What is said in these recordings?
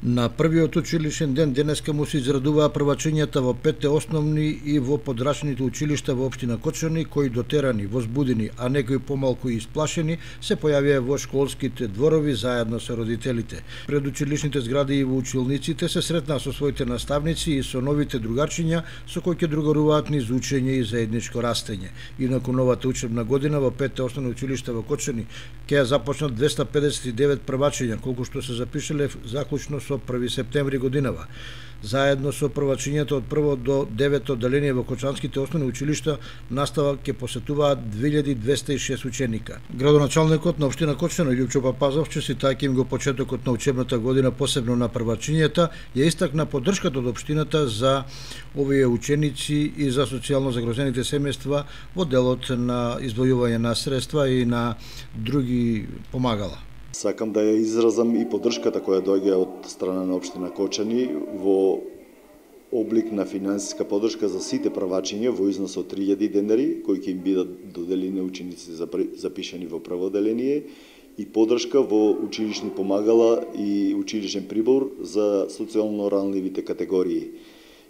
На првиот училишен ден денеска му се израдуваа првачињата во 5 основни и во подрачните училишта во општина Кочани, кои дотерани, возбудени, а некои помалку и исплашени, се појавија во школските дворови заедно со родителите. Пред училишните згради и во училниците се сретнаа со своите наставници и со новите другарчиња со кои ќе другаруваат низ учење и заедничко растење. Инаку новата учебна година во 5 основни училишта во Кочани ќе ја започнат 259 првачиња, колку што се запишале заклучно со 1 септември годинава. Заедно со првачињата од 1 до 9 одделение во кочанските основни училишта настава ќе посетуваат 2206 ученика. Градоначалникот на општина Кочани Љупчо Папазов, честитајќи им го почетокот на учебната година посебно на првачињата, ја истакна поддршката од општината за овие ученици и за социјално загрозените семејства во делот на издвојување на средства и на други помагала. Сакам да ја изразам и поддршката која доаѓа од страна на општина Кочани во облик на финансиска поддршка за сите првачиња во износ од 3000 денари, кои ќе им бидат доделени на учениците запишани во прво одделение, и поддршка во училишни помагала и училишен прибор за социјално ранливите категории.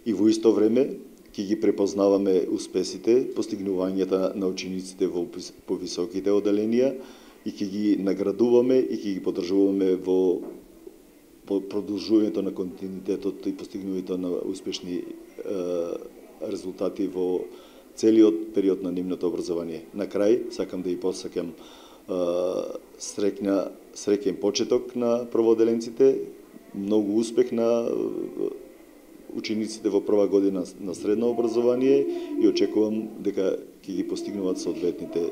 И во исто време ќе ги препознаваме успесите, постигнувањата на учениците во повисоките одделенија, и ќе ги наградуваме и ќе ги поддржуваме во продолжувањето на континуитетот и постигнувањето на успешни резултати во целиот период на нивното образование. На крај, сакам да ја посакам среќен почеток на првоодделенците, многу успех на учениците во прва година на средно образование и очекувам дека ќе ги постигнуваат соодветните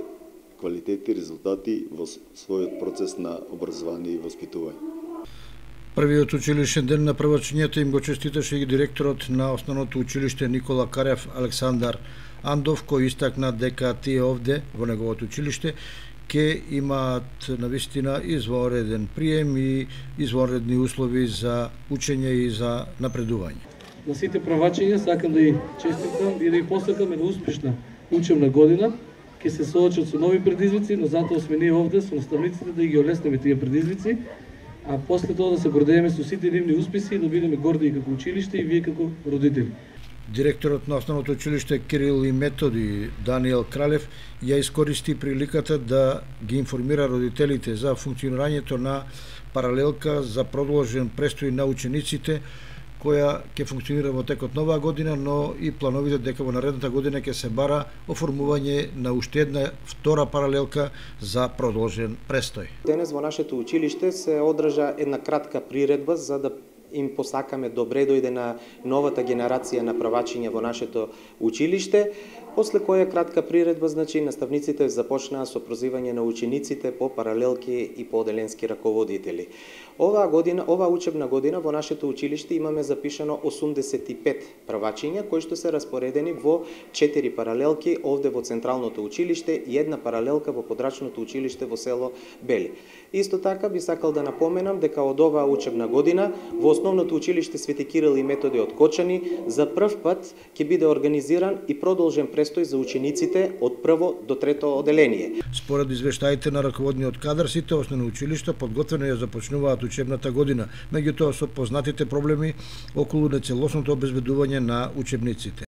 квалитети, резултати во својот процес на образование и воспитување. Првиот училишен ден на првачињата им го честиташе и директорот на основното училиште Никола Карев Александар Андов, кој истакна дека тие овде во неговото училиште ќе имаат навистина извонреден прием и извонредни услови за учење и за напредување. На сите првачиња сакам да ја честитам и да ја посакам една успешна учебна година. Ќе се соочат со нови предизвици, но затоа сме ние овде со наставниците да ги олеснеме тие предизвици, а после тоа да се гордееме со сите нивни успеси и да бидеме горди и како училиште и вие како родители. Директорот на основното училиште Кирил и Методи Даниел Кралев ја искористи приликата да ги информира родителите за функционирањето на паралелка за продолжен престој на учениците, која ќе функционира во текот нова година, но и плановите дека во наредната година ќе се бара оформување на уште една втора паралелка за продолжен престој. Денес во нашето училиште се одржа една кратка приредба за да им посакаме добре дојде на новата генерација на првачиња во нашето училиште, после која кратка приредба, значи, наставниците започнаа со прозивање на учениците по паралелки и по одделенски раководители. Ова учебна година во нашето училиште имаме запишано 85 првачиња, кои што се распоредени во 4 паралелки овде во Централното училиште и една паралелка во Подрачното училиште во село Бели. Исто така би сакал да напоменам дека од оваа учебна година во Основното училиште Свети Кирил и Методи од Кочани за прв пат ќе биде организиран и продолжен престој за учениците од прво до трето одделение. Според извештаите на раководниот кадар, сите основни училишта подготвено ја започнуваат учебната година, меѓутоа со познатите проблеми околу нецелосното обезбедување на учебниците.